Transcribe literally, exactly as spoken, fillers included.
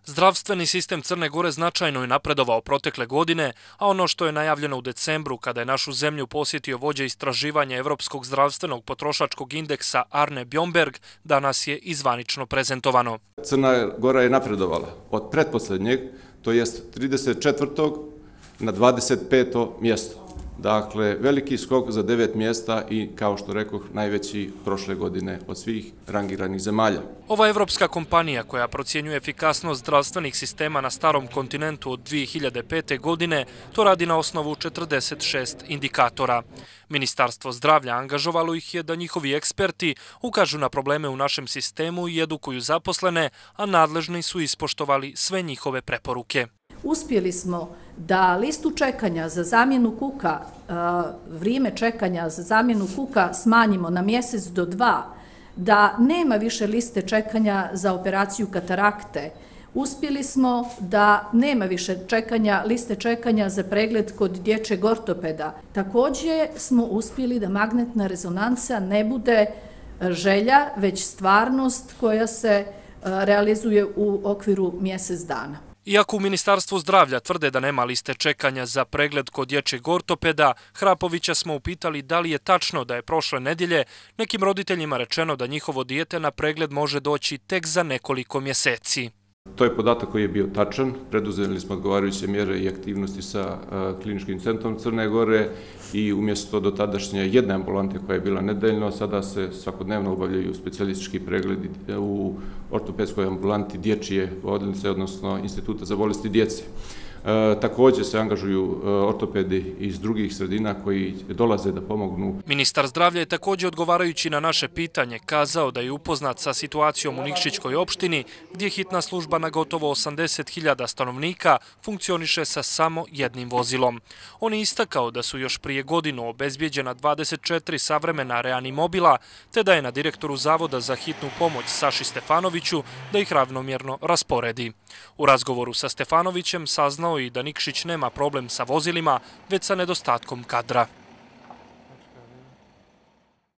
Zdravstveni sistem Crne Gore značajno je napredovao protekle godine, a ono što je najavljeno u decembru kada je našu zemlju posjetio vođa istraživanja Evropskog zdravstvenog potrošačkog indeksa Arne Bjomberg, danas je izvanično prezentovano. Crna Gora je napredovala od pretposlednjeg, to jest trideset četvrtog na dvadeset peto mjesto. Dakle, veliki skok za devet mjesta i, kao što rekoh, najveći prošle godine od svih rangiranih zemalja. Ova evropska kompanija koja procjenjuje efikasnost zdravstvenih sistema na starom kontinentu od dvije hiljade pete. godine to radi na osnovu četrdeset šest indikatora. Ministarstvo zdravlja angažovalo ih je da njihovi eksperti ukažu na probleme u našem sistemu i edukuju zaposlene, a nadležni su ispoštovali sve njihove preporuke. Uspjeli smo da listu čekanja za zamjenu kuka, vrijeme čekanja za zamjenu kuka smanjimo na mjesec do dva, da nema više liste čekanja za operaciju katarakte. Uspjeli smo da nema više čekanja, liste čekanja za pregled kod dječjeg ortopeda. Također smo uspjeli da magnetna rezonanca ne bude želja, već stvarnost koja se realizuje u okviru mjesec dana. Iako u Ministarstvu zdravlja tvrde da nema liste čekanja za pregled kod dječjeg ortopeda, Hrapovića smo upitali da li je tačno da je prošle nedjelje nekim roditeljima rečeno da njihovo dijete na pregled može doći tek za nekoliko mjeseci. To je podatak koji je bio tačan. Preduzeli smo odgovarajuće mjere i aktivnosti sa Kliničkim centrom Crne Gore i umjesto dotadašnje jedne ambulante koja je bila nedeljno, sada se svakodnevno obavljaju specijalistički pregledi u ortopedskoj ambulanti dječje bolnice, odnosno Instituta za bolesti djece. E, također se angažuju ortopedi iz drugih sredina koji dolaze da pomognu. Ministar zdravlja je također, odgovarajući na naše pitanje, kazao da je upoznat sa situacijom u Nikšićkoj opštini, gdje hitna služba na gotovo osamdeset hiljada stanovnika funkcioniše sa samo jednim vozilom. On je istakao da su još prije godinu obezbijeđena dvadeset četiri savremena reanimobila, te da je na direktoru Zavoda za hitnu pomoć Saši Stefanoviću da ih ravnomjerno rasporedi. U razgovoru sa Stefanovićem saznao i da Nikšić nema problem sa vozilima, već sa nedostatkom kadra.